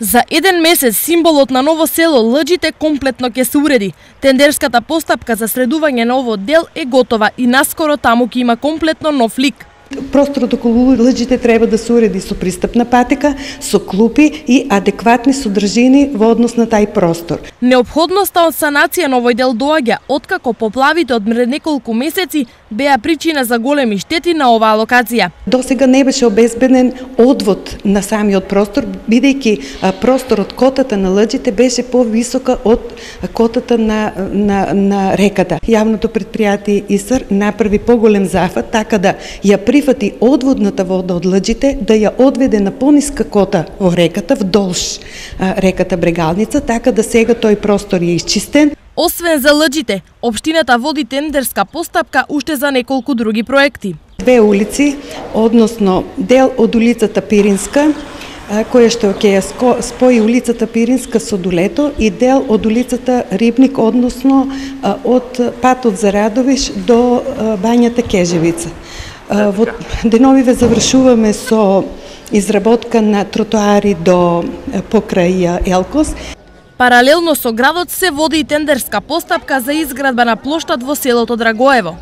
За еден месец символот на Ново село Лџите комплетно ќе се уреди. Тендерската постапка за средување на овој дел е готова и наскоро таму ќе има комплетно нов лик. Просторот околу Лџите треба да се уреди со пристапна патека, со клупи и адекватни содржини во однос на тај простор. Неопходноста од санација на овој дел доаѓа откако поплавите од пред неколку месеци беа причина за големи штети на оваа локација. Досега не беше обезбеден одвод на самиот простор, бидејќи просторот котата на Лџите беше повисока од котата на реката. Јавното предпријатие ИСР направи поголем зафат така да ја прифати одводната вода од Лџите, да ја одведе на пониска кота во реката, вдолж реката Брегалница, така да сега тој простор е исчистен. Освен за Лџите, општината води тендерска постапка уште за неколку други проекти. Две улици, односно дел од улицата Пиринска, која што ќе ја спои улицата Пиринска со Дулето, и дел од улицата Рибник, односно од патот за Радовиш до бањата Кежевица. Во деновиве завршуваме со изработка на тротоари до покрај Елкос. Паралелно со градот се води и тендерска постапка за изградба на плоштад во селото Драгоево.